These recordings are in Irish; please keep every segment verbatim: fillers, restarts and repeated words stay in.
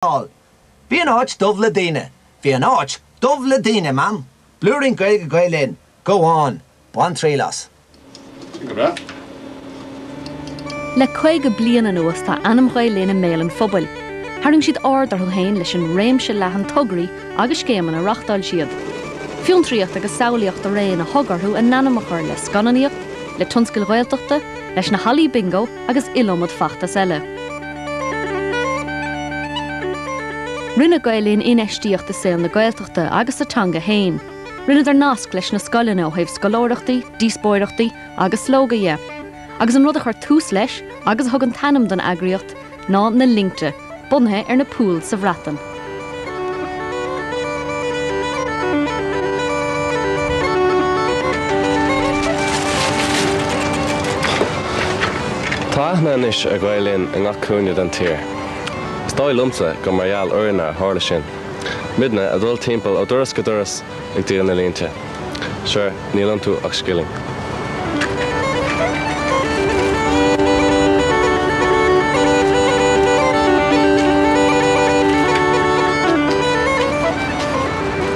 Bhí an áit dubh le daoine. Bhí an áit dubh le daoine, Mam. Blúirín Gaeilge Gael Linn. Go on. Bain triail as. Go breá. Le caoga bliain anuas tá ainm Ghael Linn i mbéal an phobail. Tharraing siad aird orthu féin leis an réimse leathan tograí agus scéimeanna a reáchtáil siad. Fiontraíocht agus samhlaíocht araon a thug orthu a n-ainm a chur le scannánaíocht, le tionscail Ghaeltachta, leis na hallaí bingo agus iliomad feachtas eile. Rinne Gael Linn infheistíocht i saol na Gaeltachta agus sa teanga féin. Rinneadar nasc leis na scoileanna ó thaobh scoláireachtaí, díospóireachtaí agus slógaí dhe. Agus an rud a chuir tús leis agus a thug an t-ainm don eagraíocht ná na linnte, bunaithe ar na pools sa Bhreatain. Tá aithne anois ar Ghael Linn i ngach cúinne den tír. Is dóigh liomsa gur mar gheall orainne a tharla sin. Muidne ag dul timpeall ó doras go doras ag díol na línte. Sure, níl iontu ach scilling.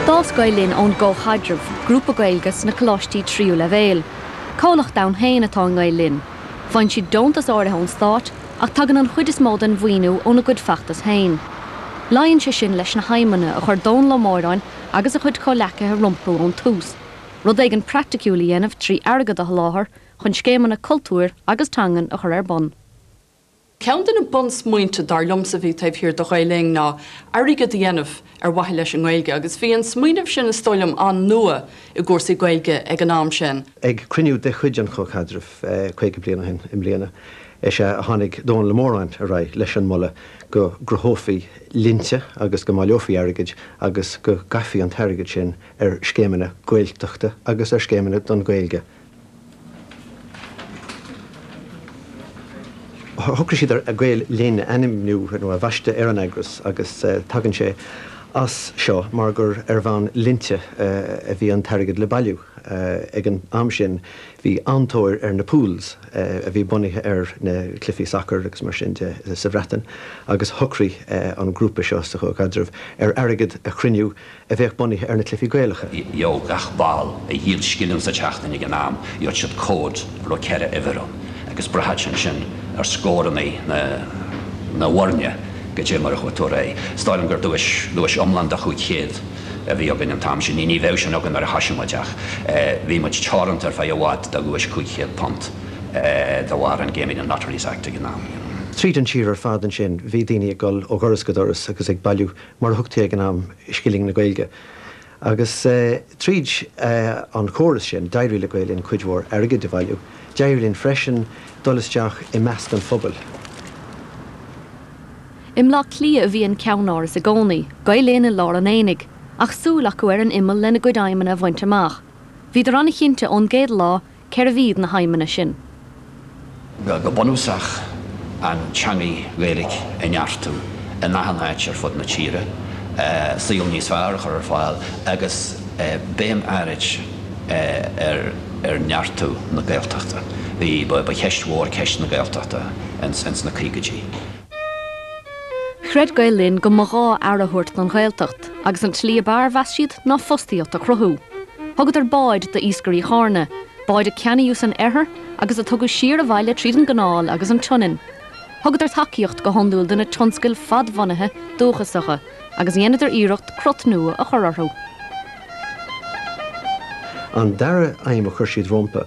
D'fhás Gael Linn ón gComhchaidreamh, grúpa Gaeilge sna coláistí tríú leibhéal. Comhlacht ann féin atá i nGael Linn. Faigheann siad deontas áirithe ón stát ach tagann an chuid is mó den mhaoiniú óna gcuid feachtas féin. Luíonn sé sin leis na haidhmeanna a chuir Dónal Ó Móráin agus a chuid comhghleacaithe rompu ón tús, rud éigin praiticiúil a dhéanamh trí airgead a sholáthar chun scéimeanna cultúir agus teangan a chur ar bun. Ceann de na bunsmaointe dar liomsa a bhí taobh thiar de Ghael Linn ná airgead a dhéanamh ar mhaithe leis an nGaeilge, agus bhí an smaoineamh sin is dóigh liom an-nua i gcúrsaí Gaeilge ag an am sin. Ag cruinniú de chuid an Chomhchaidrimh caoga bliain ó shin i mbliana, is ea a tháinig Dónal Ó Móráin ar aghaidh leis an moladh go gcruthófaí linnte agus go mbaileofaí airgead agus go gcaithfí an t-airgead sin ar scéimeanna Gaeltachta agus ar scéimeanna don Ghaeilge. Shocraigh siad ar Gael Linn a ainmniú nó a bhaisteadh ar an eagras agus tagann sé as seo mar gur ar bhonn linnte a bhí an t-airgead le bailiú. Ag an am sin bhí an-tóir ar na pools a bhí bunaithe ar na cluichí sacair agus mar sin de sa Bhreatain agus shocraigh an grúpa seo sa Chomhchaidreamh ar airgead a chruinniú a bheadh bunaithe ar na cluichí Gaelacha. Gheobhadh gach ball a dhíol scilling sa tseachtain ag an am, gheobhadh siad comhad a raibh ceithre uimhir ann agus braitheann sé sin ar scóranna na na bhfoirne goidé mar a chuaigh tú ar aghaidh. Is dóigh liom gur duais duais iomlán de chúig chéad a bhí againn an t-am sin. Ní ní bheadh sin againn nuair a thoisigh muid ach bhí muid teoranta ar feadh i bhfad do dhuais cúig chéad punt de bharr an Gaming and Lotteries Act ag an am. Tríd an tír ar fad ansin bhí daoine ag dul ó dhoras go doras agus ag bailiú mar a thugtaí ag an am scilling na Gaeilge. Agus tríd an chóras sin d'éirigh le Gael Linn cuid mhór airgid a bhailiú, d'éirigh linn freisin dul isteach i measc an phobail. I mBleá Cliath a bhí an ceannáras i gcónaí, Gael Linn i lár an aonaigh, ach súil acu ar an imeall lena gcuid aidhmeanna a bhaint amach. Bhíodar an-chinnte ón gcéad lá cérbh iad na haidhmeanna sin. Go bunúsach an teangaidh Ghaeilge a neartú in achan áit ar fud na tíre, saol níos fearr a chur ar fáil agus béim áirid ar ar neartú na Gaeltachta. Bhí ba cheist mhór ceist na Gaeltachta ins ins na caogaidí. Chreid Gael Linn go mba ghá aire a thabhairt don Ghaeltacht, agus an tslí ab fhearr, mheas siad, ná fostaíocht a chruthú. Thugadar báid d'iascairí Chárna, báid a ceannaíodh san oirthear agus a tugadh siar abhaile tríd an gcanáil agus an tSionainn. Thugadar tacaíocht go hiondúil do na tionscail fadbhunaithe dúchasacha agus dheineadar iarracht crot nua a chur orthu. An dara aidhm a chuir siad rompu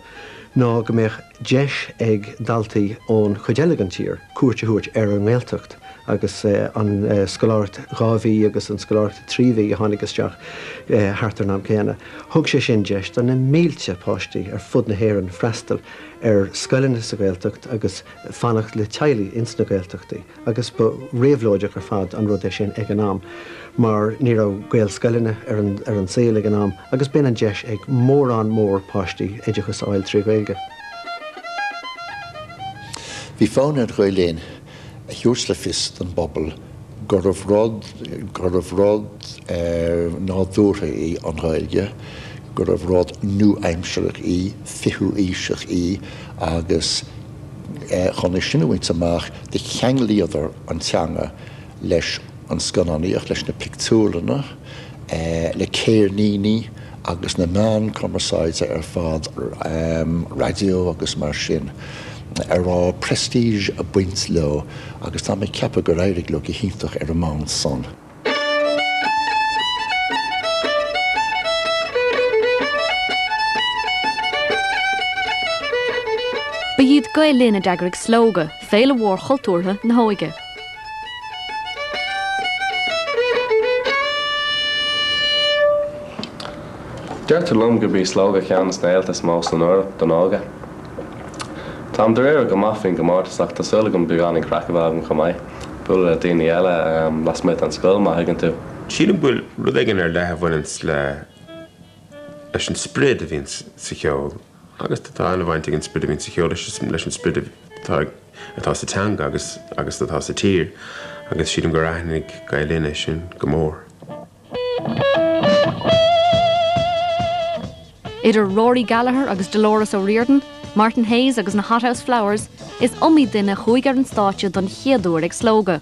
ná go mbeadh deis ag daltaí ón chuid eile den tír cuairt a thabhairt ar an nGaeltacht agus an scoláireacht dhá mhí agus an scoláireacht trí mhí a tháinig isteach thart ar an am céanna. Thug sé sin deis do na mílte páistí ar fud na hÉireann freastal ar scoileanna sa Ghaeltacht agus fanacht le teaghlaigh ins na Gaeltachtaí agus ba réabhlóideach ar fad an rud é sin ag an am mar ní raibh Gaelscoileanna ar an ar an saol ag an am agus b'in an deis ag mórán mór páistí oideachas a fháil trí Ghaeilge. Bhí fonn ar Ghael Linn a thabhairt le fios don bpobal gurbh rud gurbh rud nádúrtha í an Ghaeilge, gurbh rud nua-aimsearach í, fichiú aoiseach í agus chun é sin a bhaint amach do cheanglaíodar an teanga leis an scannánaíocht, leis na pictiúrlanna, le ceirníní agus na meáin cumarsáide ar fad, raidió agus mar sin, a raibh prestige ag baint leo agus tá mé ag ceapadh gur éirigh leo go hiontach ar an mbonn san. Ba iad Gael Linn a d'eagraigh Slógadh, féile mhór chultúrtha na hóige. Deirtear liom gurb í Slógadh ceann de na féilte is mó san Eoraip don óige. Táim dáiríre go maith faoin gcomórtas ach tá súil agam beagáinín craic a bheith agam chomh maith, bualadh le daoine eile lasmuigh den scoil má thuigeann tú. Sílim go bhfuil rud éigin ar leith a bhaineanns le leis an sprid a bhíonn sa cheol agus tá an-bhaint ag an sprid a bhíonn sa cheol leis an sprid atá atá sa teanga agus agus atá sa tír agus sílim gur aithnigh Gael Linn é sin go mór. Idir Rory Gallagher agus Dolores O'Riordan, Martin Hayes agus na Hothouse Flowers, is iomaí duine a chuaigh ar an stáitse don chéad uair ag Slógadh.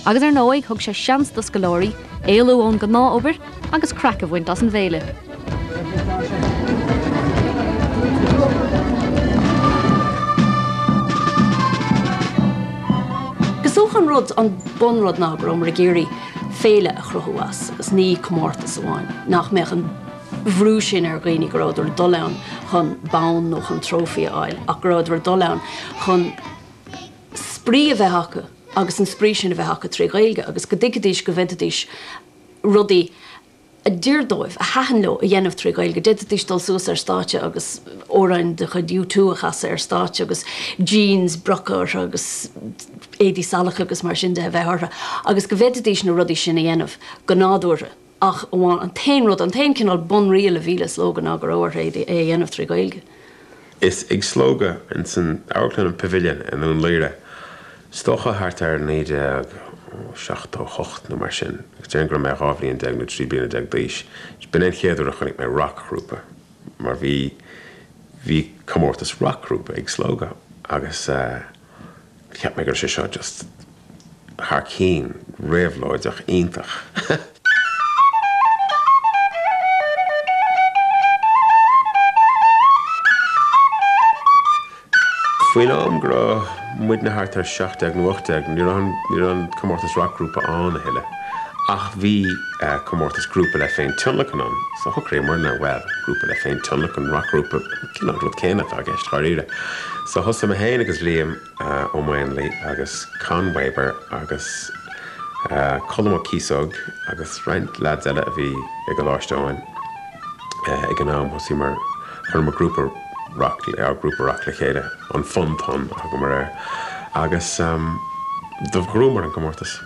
Agus ar ndóigh thug sé seans do scoláirí éalú ón ghnáthobair agus craic a bhaint as an bhféile. Is dócha an rud an bunrud ná go rabhamar ag iarraidh féile a chruthú as agus ní comórtas amháin, nach mbeadh an bhrú sin ar dhaoine go rabhadar ag dul ann chun bonn nó chun trófaí a fháil ach go rabhadar ag dul ann chun spraoi a bheith acu agus an spraoi sin a bheith acu trí Ghaeilge agus go dtuigfidís go bhféadfaidís rudaí a d'oir dóibh, a thaitin leo a dhéanamh trí Ghaeilge. D'fhéadfaidís dul suas ar stáitse agus amhráin de chuid U two a chasadh ar stáitse agus jeans broca orthu agus éadaí salacha agus mar sin de a bheith orthu agus go bhféadfaidís na rudaí sin a dhéanamh go nádúrtha. Ach amháin an t-aon rud, an t-aon cineál bunriail a bhí le Slógadh ná go raibh orthu é a dhéanamh trí Ghaeilge. Is ag Slógadh ins an Amharclann an Pavilion i nDún Laoghaire, is dócha thart ar naoi déag seachtó hocht nó mar sin, agus déarfainn go raibh mé dhá bhliain déag nó trí bliana déag d'aois, b'in é an chéad uair a chonaic mé racghrúpa mar bhí bhí comórtas racghrúpa ag Slógadh agus cheap mé go raibh sé seo just thar cinn, réabhlóideach, iontach. Faoin am go raibh muidne thart ar seacht déag nó ocht déag, ní raibh an, ní raibh an comórtas racghrúpa ann a thuilleadh. Ach bhí comórtas grúpa le féintionlacan ann. So shocraíomarna, bhuel, grúpa le féintionlacan, racghrúpa, cineál rud céanna atá i gceist, dháiríre. So thosaigh mé féin agus Liam Ó Maonlaí agus Con Weber agus Colm Ó Cíosóg agus roinnt leaids eile a bhí i gColáiste Eoin ag an am, thosaíomar, chuireamar grúpa rac, ár grúpa rac le chéile, an Fun Ton a thugamar air, agus do ghnóthaíomar an comórtas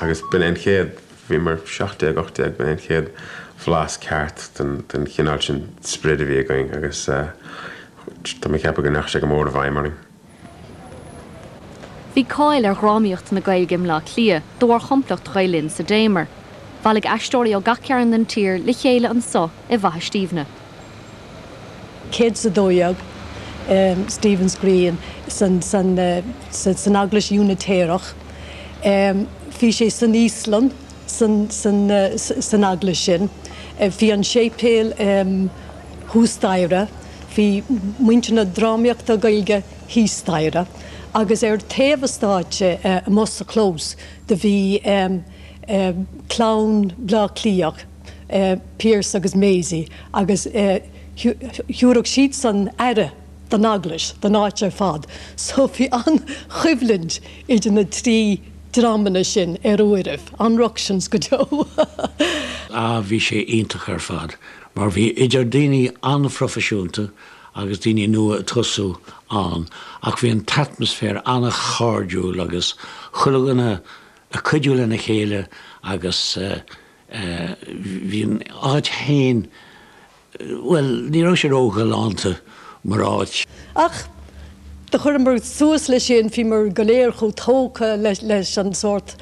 agus b'in é an chéad, bhíomar seacht déag, ocht déag, b'in é an chéad bhlas ceart den, den chineál sin sprid a bhí againn agus tá mé ag ceapadh go ndeachaigh sé go mór i bhfeidhm orainn. Bhí cáil ar dhrámaíocht na Gaeilge i mBleá Cliath de bharr chomplacht Ghael Linn sa Damer. Bhailigh aisteoirí ó gach cearn den tír le chéile anso i bhFaiche Stiabhna. céad is a dó dhéag Stephen's Green san san san Eaglais Úinitéireach. Bhí sé san íoslann san san san eaglais sin. Bhí an séipéal thuas staighre, bhí muintir na drámaíochta Gaeilge thíos staighre agus ar taobh an stáitse amuigh sa chlós do bhí clann Bhleá Cliathach, Pearse agus Maisie agus thabharfadh siadsan aire don eaglais, don áit ar fad. So bhí an-choimhlint idir na trí dreamanna sin ar uairibh, an-ructions go deo. Ah, bhí sé iontach ar fad, mar bhí idir daoine an-phroifisiúnta agus daoine nua ag tosú ann, ach bhí an t-atmaisféar an-chairdiúil agus chuile dhuine ag cuidiú lena chéile agus bhí an áit féin, bhuel, ní raibh sé róghalánta mar áit. Ach do chuireamar suas leis sin, bhíomar go léir chomh tógtha leis an sórt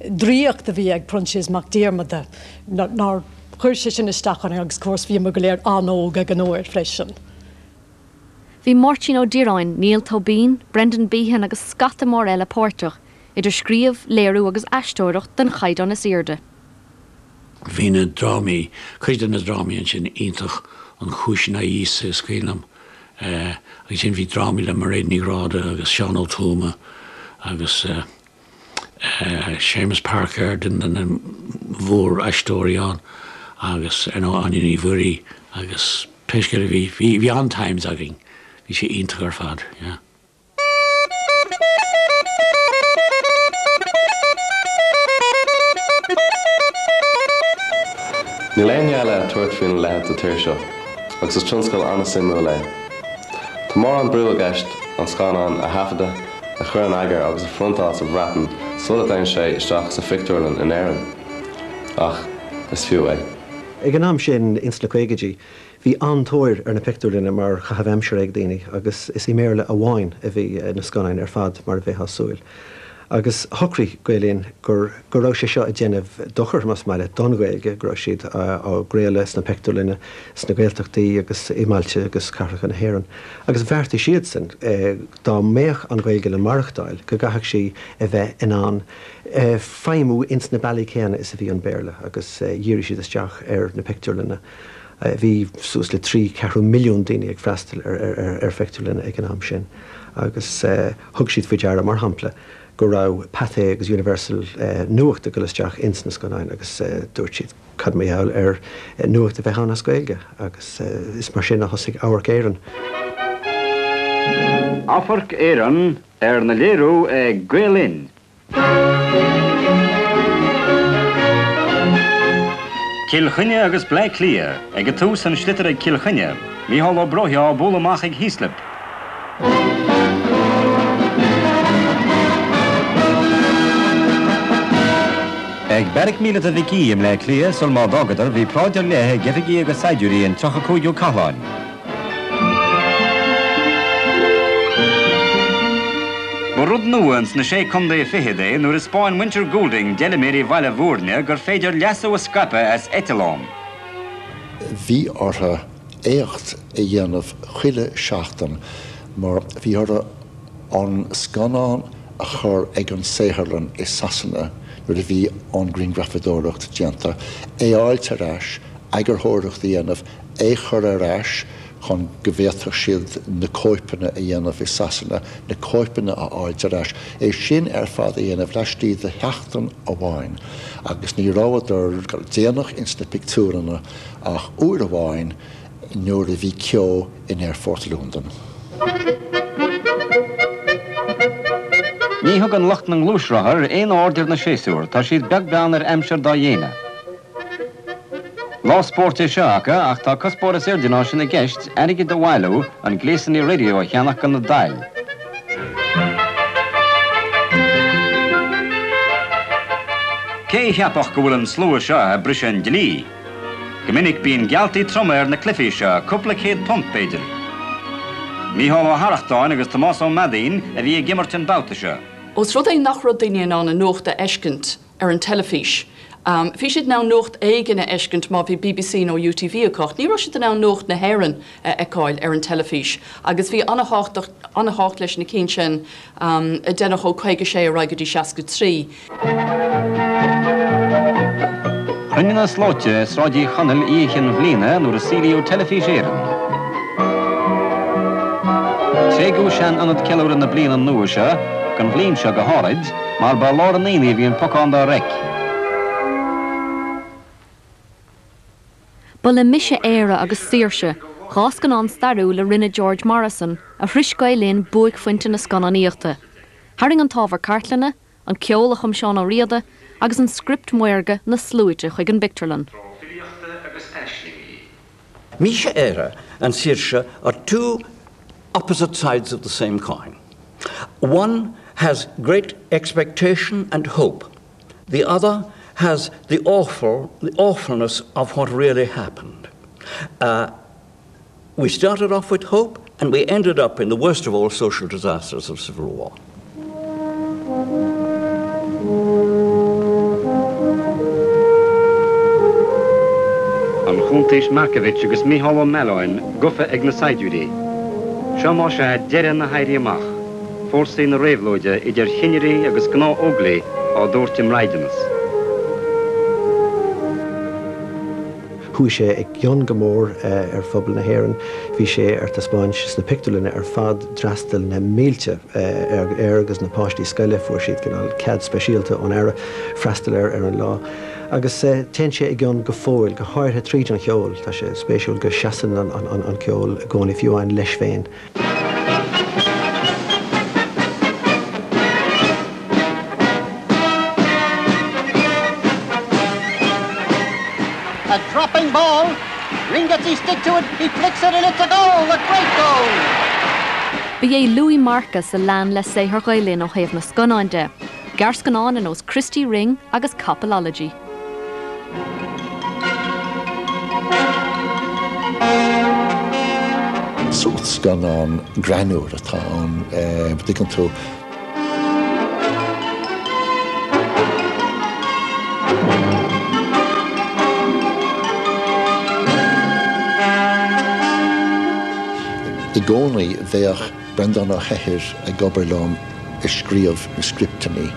draíocht a bhí ag Proinsias Mac Diarmada nár chuir sé sin isteach orainn agus of course bhíomar go léir an-óg ag an uair freisin. Bhí Máirtín Ó Direáin, Niall Tóibín, Brendan Behan agus scata mór eile páirteach idir scríobh, léiriú agus aisteoireacht den chaighdeán is airde. Bhí na drámaí, cuid de na drámaí ansin iontach an Chúis in aghaidh Íosa is cuimhin liom. Agus sin bhí drámaí le Mairéad Ní Ghráda agus Seán Ó Tuama agus Séamus Parker duine de na mhóraisteoirí ann agus ar ndóigh Áine Ní Mhuirí agus pé scéal a bhí bhí an-times againn, bhí sé iontach ar fad, yeah. Níl éinne eile ag tabhairt faoina leithéid sa tír seo, agus is tionscal an-suimiúil é. Tá mórán brú i gceist an scannán a thaifeadadh, a chur in eagar agus a phriontáil sa Bhreatain sula dtéann sé isteach sa phictiúrlann in Éirinn. Ach is fiú é. Ag an am sin, ins na caogaidí, bhí an-tóir ar na pictiúrlanna mar chaitheamh aimsire ag daoine agus is i mBéarla amháin a bhí na scannáin ar fad mar a bheifeá ag súil. Agus shocraigh Gael Linn gur go raibh sé seo ag déanamh dochar, más maith leat, don Ghaeilge, go raibh siad á gcraoladh sna pictiúrlanna, sna Gaeltachtaí agus i mbailte agus cathracha na hÉireann. Agus bheartaigh siadsan, dá mbeadh an Ghaeilge le maireachtáil, go gcaithfeadh sí a bheith in ann feidhmiú ins na bealaí céanna is a bhí an Béarla, agus dhírigh siad isteach ar na pictiúrlanna. Bhí suas le trí ceathrú milliún daoine ag freastal ar phictiúrlanna ag an am sin, agus thug siad faoi deara, mar shampla, go raibh Pathé agus Universal nuacht ag dul isteach ins na scannáin agus dúirt siad cad mar gheall ar nuacht a bheith ann as Gaeilge agus is mar sin a thosaigh Amharc Éireann. Amharc Éireann arna léiriú ag Gael Linn. Cill Chainnigh agus Bleá Cliath, ag an tús an sliotar ag Cill Chainnigh, Mícheál Ó Bróithe á bualadh amach ag Heaslip. Ag Beairic Míleata Mhic Aoidh i mBleá Cliath sul má d'fhágadar bhí paráid ar leith ag oifigigh agus saighdiúirí an tríocha cúigiú Cathláin. Ba rud nua ins na sé contae fichead é nuair a 'spáin muintir Goulding d'fheilméaraí Bhaile Bhúirne gur féidir leasú a scaipeadh as eitleán. Bhí orthu éacht a dhéanamh chuile seachtain mar bhí orthu an scannán a chur ag an saotharlann i Sasana nuair a bhí an ghrianghrafadóireacht déanta, é a fháilt ar ais, eagarthóireacht a dhéanamh, é chur ar ais chun go bhféadfadh siad na cóipeanna a dhéanamh i Sasana, na cóipeanna a fháilt ar ais, é sin ar fad a dhéanamh laistigh de sheachtain amháin, agus ní rabhadar déanach ins na pictiúrlanna ach uair amháin nuair a bhí ceo in Aerfort Londain. Ní thugann lucht na ngluaisrothar aon aird ar na séasúir, tá siad beag beann ar aimsir dá dhéine. Lá spóirt é seo acu ach tá cuspóir is airde ná sin i gceist, airgead a bhailiú chun gléasanna raidió a cheannach do na daill. Cé a cheapfadh go bhfuil an slua seo ag briseadh an dlí? Go minic bíonn gealltaí troma ar na cluichí seo, cúpla céad punt b'fhéidir. Mícheál Ó hArrachtáin agus Tomás Ó Meadaín a bhí ag imirt an babhta seo. Ós rud é nach raibh daoine in ann an nuacht a fheiscint ar an teilifís. Bhí siad in ann nuacht éigin a fheiscint má bhí BBC nó UTV acu, ní raibh siad in ann nuacht na hÉireann a fheiceáil ar an teilifís agus bhí an-tábhacht leis na cinn sin a deineadh ó caoga sé ar aghaidh go dtí seasca trí. Chruinnigh na slóite i Sráid Uí Chonaill Oíche Chinn Bhliana nuair a saolaíodh Teilifís Éireann. Tréigeadh sean-ionad ceiliúradh na bliana nua seo, don bhliain seo go háirid, mar ba i lár an aonaigh a bhí an pocán dá reic. Ba le Mise Éire agus Saoirse, dhá scannán stairiúil a rinne George Morrison, a shrois Gael Linn buaicphointe na scannánaíochta. Tharraing an t-ábhar cartlainne, an ceol a chum Seán Ó Riada agus an script maorga na sluaite chuig an bpictiúrlann. Mise Éire and Saoirse are two opposite sides of the same coin. One has great expectation and hope. The other has the awful, the awfulness of what really happened. Uh, we started off with hope and we ended up in the worst of all social disasters of civil war. An Chuntaois Markievicz agus Mícheál Ó Mealláin gafa ag na saighdiúirí. Seo más ea deireadh na hÉirí Amach. Fórsaí na réabhlóide idir chinnirí agus gnáth-Óglaigh á dtabhairt i mbraighdeanas. Chuaigh sé i gcion go mór ar phobal na hÉireann, bhí sé ar taispeáint sna pictiúrlanna ar fad, d'fhreastail na mílte air agus na páistí scoile, fuair siad cineál cead speisialta ón Aire freastal air ar an lá. Agus téann sé i gcion go fóill, go háirithe tríd an cheol, tá sé spéisiúil go seasann an ceol i gcónaí fiú amháin leis féin. A dropping ball. Ring gets his stick to it. He flicks it and it's a goal. A great goal. Ba é Louis Marcus a lean le saothar Ghael Linn ó thaobh na scannán de, gearrscannáin ar nós Christy Ring agus Kopalology. Sórt scannán greannmhar atá ann, dtuigeann tú. I gcónaí bheadh Breandán Ó hEithir ag obair liom ag scríobh na scripteanna,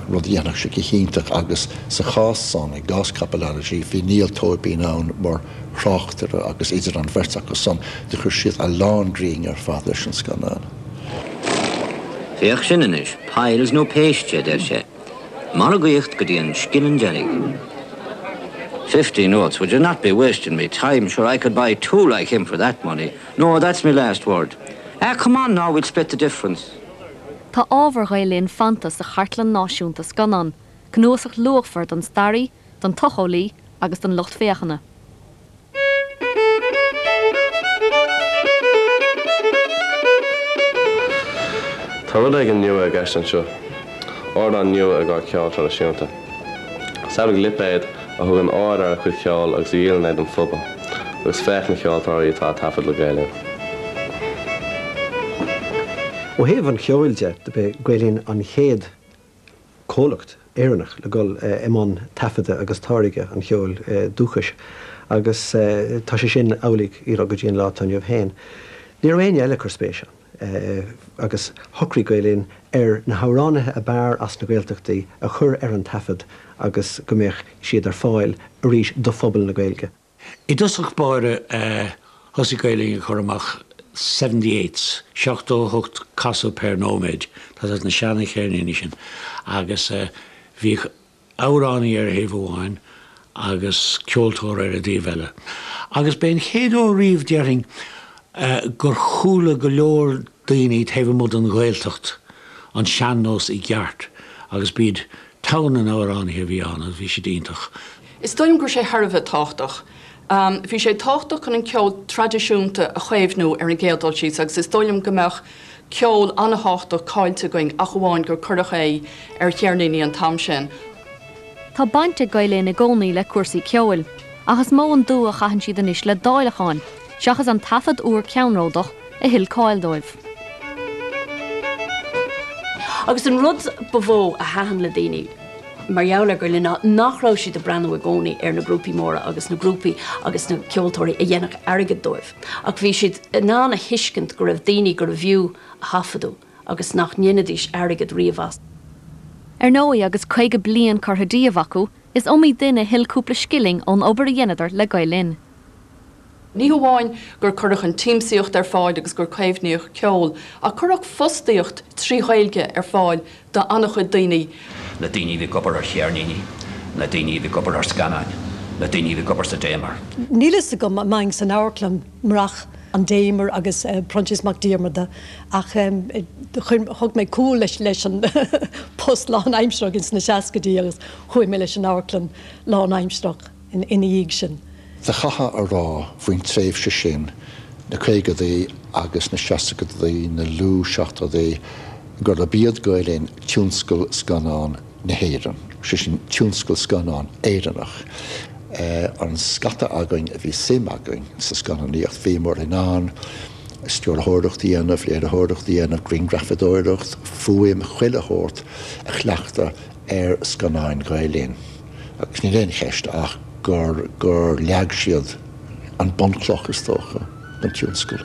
rud a dhéanfadh sé go hiontach agus sa chás san, i gcás Kopalology, bhí Niall Tóibín ann mar thráchtaire agus idir an bheirt acu san do chuir siad a lán grinn ar fad leis an scannán. Féach sin anois, piles nó péiste, a deir sé. Margaíocht go dtí an scilling deiridh. Fifty notes, would you not be wasting me time? Sure, I could buy two like him for that money. No, that's me last word. Ah, come on now, we'll split the difference. Tá ábhar Ghael Linn fanta sa Chartlann Náisiúnta Scannán, cnuasach luachmhar don staraí, don tsocheolaí agus don lucht féachana. Tá rud éigin nua i gceist anseo, ardán nua i gcomhair ceol traidisiúnta. Samhlaigh lipéad a thugann aird ar a chuid ceoil agus a dhíolann é don phobal, agus féach na ceoltóirí atá ag taifead le Gael Linn. Ó thaobh an cheoil de, ba Gael Linn an chéad comhlacht Éireannach le dul i mbun taifeadta agus táirgeadh an cheoil dúchais agus tá sé sin amhlaidh go dtí an lá atá inniu féin. Ní raibh éinne eile ag cur spéis ann agus shocraigh Gael Linn ar na hamhránaithe ab fhearr as na Gaeltachtaí a chur ar an taifead agus go mbeadh siad ar fáil arís do phobal na Gaeilge. I dtosach báire thosaigh Gael Linn ag cur amach seventy eights, seachtó a hocht casadh per nóiméad, tá na seana-cheirníní sin, agus bhíodh amhránaí ar thaobh amháin agus ceoltóir ar an dtaobh eile. Agus b'é an chéad uair riamh, déarfainn, gur chuala go leor daoine taobh amuigh den Ghaeltacht an sean-nós i gceart agus b'iad togha na n-amhránaithe a bhí ann agus bhí siad iontach. Is dóigh liom go raibh sé thar a bheith tábhachtach. Bhí sé tábhachtach chun an ceol traidisiúnta a chaomhnú ar an gcéad dul síos agus is dóigh liom go mbeadh ceol an-tábhachtach caillte againn ach amháin gur cuireadh é ar cheirníní an t-am sin. Tá baint ag Gael Linn i gcónaí le cúrsaí ceoil, ach is mó an dua a chaitheann siad anois le dáileacháin, seachas an taifead úr ceannródach a thuill cáil dóibh. Agus an rud ba mhó a thaitin le daoine mar gheall ar Ghael Linn ná nach raibh siad ag breathnú i gcónaí ar na grúpaí móra agus na grúpaí agus na ceoltóirí a dhéanfadh airgead dóibh, ach bhí siad in ann a thuiscint go raibh daoine gurbh fhiú a thaifeadadh agus nach ndéanfaidís airgead riamh as. Ar ndóigh agus caoga bliain curtha díobh acu, is iomaí duine a thuill cúpla scilling ón obair a dheineadar le Gael Linn. Ní hamháin gur cuireadh an tsiamsaíocht ar fáil agus gur caomhnaíodh ceol, ach cuireadh fostaíocht trí Ghaeilge ar fáil do an-chuid daoine. Na daoine a bhí ag obair ar cheirníní, na daoine a bhí ag obair ar scannáin, na daoine a bhí ag obair sa Damer. Níl fhios agam an mbeinn san amharclann murach an Damer agus Proinsias Mac Diarmada ach thug mé cúl leis leis an post lánaimsearach ins na seascaidí agus chuaigh mé leis an amharclann lánaimsearach ina dhiaidh sin. Do chaithfeá a rá faoin tréimhse sin, na caogadaí agus na seascadaí, na luath-seachtóidí, gurb iad Gael Linn tionscal scannán na hÉireann, sé sin tionscal scannán Éireannach. An scata againn a bhí suim againn sa scannánaíocht, bhíomar in ann stiúrthóireacht a dhéanamh, léiritheoireacht a dhéanamh, grianghrafadóireacht, fuaim, chuile shórt a chleachtadh ar scannáin Ghael Linn. Agus níl aon cheist ach gur gur leag siad an bunchloch is dócha don tionscal.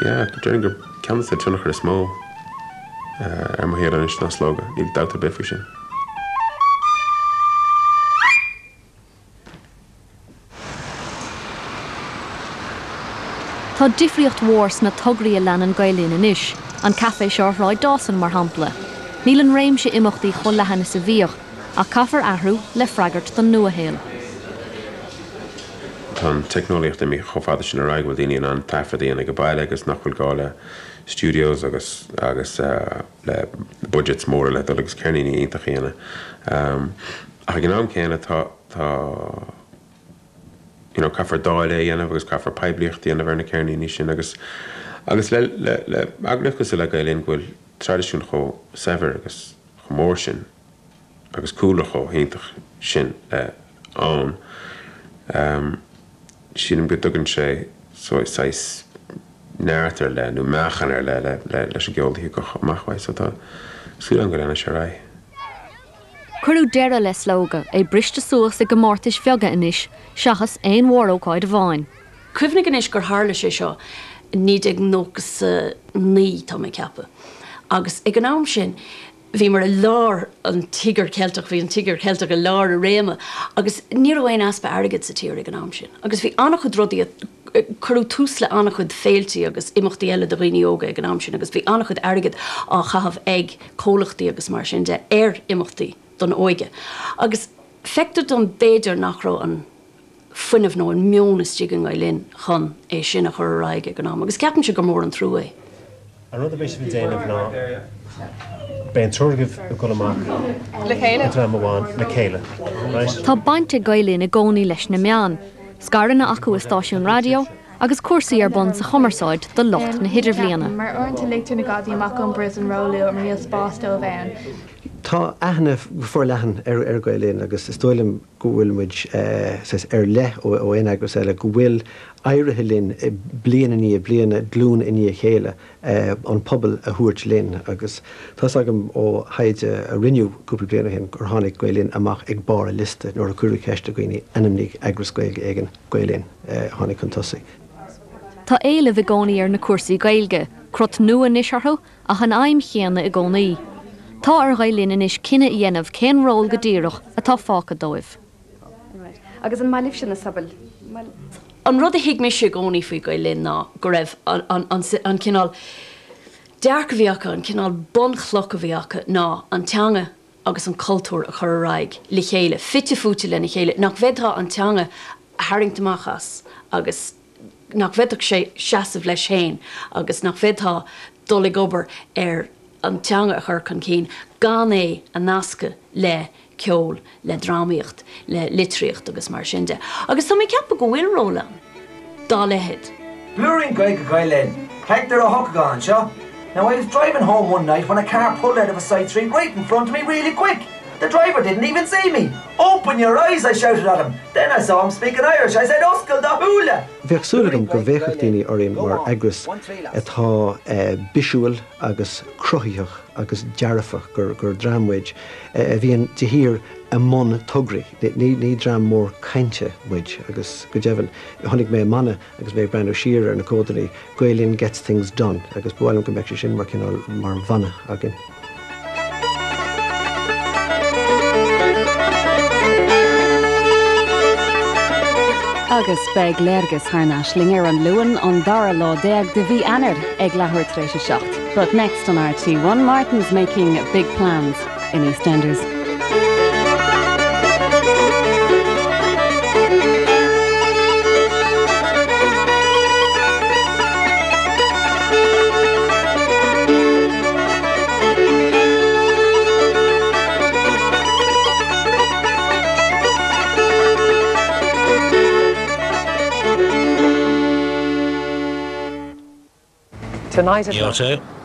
Yeah, déarfainn gur ceann de na tionchair is mó ar mo shaol anois ná Slógadh, níl dabht ar bith faoi sin. Tá difríocht mhór sna tograí a leanann Gael Linn anois, an caife seo ar Shráid Dawson mar shampla. Níl an réimse imeachtaí chomh leathan is a bhíodh, ach caithfear athrú le freagairt don nuashaol. Tá an teicneolaíocht imithe chomh fada sin ar aghaidh bhfuil daoine in ann taifead a dhéanamh ag baile agus nach bhfuil gá le studios agus agus uh, le budgets móra le dul agus ceirníní iontach a dhéanamh. Um, ach ag an am céanna tá tá you know, caithfear dáileadh a dhéanamh agus caithfear poiblíocht a dhéanamh ar na ceirníní sin agus agus le le le eagraíocht cosúil le Gael Linn go bhfuil traidisiún chomh saibhir agus chomh mór sin agus cúlra chomh hiontach sin uh, ann. Um, sílim go dtugann sé saghas neart ar leith nó meáchan ar leith le le leis an gceol go amach so tá súil agam go leanfaidh sé ar aghaidh. Cuireadh deireadh le Slógadh é briste suas i gcomórtais bheaga anois seachas aon mhórócáid amháin. Cuimhnigh anois gur tharla sé seo naoi déag nócha naoi tá mé ag ceapadh. Agus ag an am sin, bhí mar i lár an Tíogar Ceilteach bhí an Tíogar Ceilteach i lár a réime, agus ní raibh aon easpa airgid sa tír ag an am sin. Agus bhí an-chuid rudaí cuireadh tús le an-chuid féiltí agus imeachtaí eile do dhaoine óga ag an am sin, agus bhí an-chuid airgid á chaitheamh ag comhlachtaí agus mar sin de ar imeachtaí don óige. Agus feictear dom b'fhéidir nach raibh an fuinneamh nó an meon istigh i nGael Linn chun é sin a chur ar aghaidh ag an am, agus ceapaimse gur mór an trua é. An rud a bheidh sibh ag déanamh ná beidh an triúr agaibh ag dul amach Le chéile? An dream amháin le chéile. Right? Tá baint ag Gael Linn i gcónaí leis na meáin, scaireanna acu i stáisiún raidió agus cúrsaí ar bun sa chumarsáid do lucht na hidirbhliana. Mar uaireanta ligtear na gadaí amach ón bpríosún róluath mar níl spás dóibh ann. Tá aithne forleathan ar ar Gael Linn agus is dóigh liom go bhfuil muid eh, ar leith ó aon eagras eile go bhfuil éirithe linn bliain i ndiaidh bliana glúin i ndiaidh a chéile eh, an pobal a thabhairt linn agus tá agam ó thaighde a rinneadh cúpla bliain ó shin gur tháinig Gael Linn amach ag barr an liosta nuair a cuireadh ceist ar dhaoine ainmnigh eagras Gaeilge éigin Gael Linn eh, tháinig chun tosaigh. Tá éileamh i gcónaí ar na cúrsaí Gaeilge, crot nua anois orthu ach an aidhm chéanna i gcónaí. Tá ar Ghael Linn anois cinneadh a dhéanamh cén ról go díreach atá fágtha dóibh. Agus an maith libhse na sobail? An rud a thuig mise i gcónaí faoi Gael Linn ná go raibh an, an, an, an cineál dearcadh a bhí acu an cineál bunchloch a bhí acu ná an teanga agus an cultúr a chur ar aghaidh le chéile, fite fuaite lena chéile, nach bhféadfá an teanga a tharraingt amach as agus nach bhféadfadh sé seasamh leis féin agus nach bhféadfá dul ag obair ar an teanga a chur chun cinn gan é a nascadh le ceol, le drámaíocht, le litríocht agus mar sin de. Agus tá mé ag ceapadh go bhfuil ról ann dá leithéid. Blúirín Gaeilge Gael Linn. Hector Ó hEochagáin anseo. Now I was driving home one night when a car pulled out of a side street right in front of me really quick. The driver didn't even see me. Open your eyes, I shouted at him. Then I saw him speaking Irish. I said, Oscail do shúile! Bheadh súil agam go bhféachfadh daoine orainn mar eagras atá eh, bisiúil agus cruthaitheach agus dearfach gur gur dream muid a bhíonn de shíor i mbun tograí. Ní ní dream mór cainte muid agus go deimhin tháinig mé mana agus mé breathnú siar ar na comhaid Gael Linn gets things done agus ba mhaith liom go mbeadh sé sin mar cineál mar mhana againn. Agus beidh Léargas thar n-ais linn ar an Luan an dara lá déag de mhí Eanáir ag leathuair tar éis a seacht. But next on R T One, Martin's making big plans in EastEnders. Tonight at Níl sé.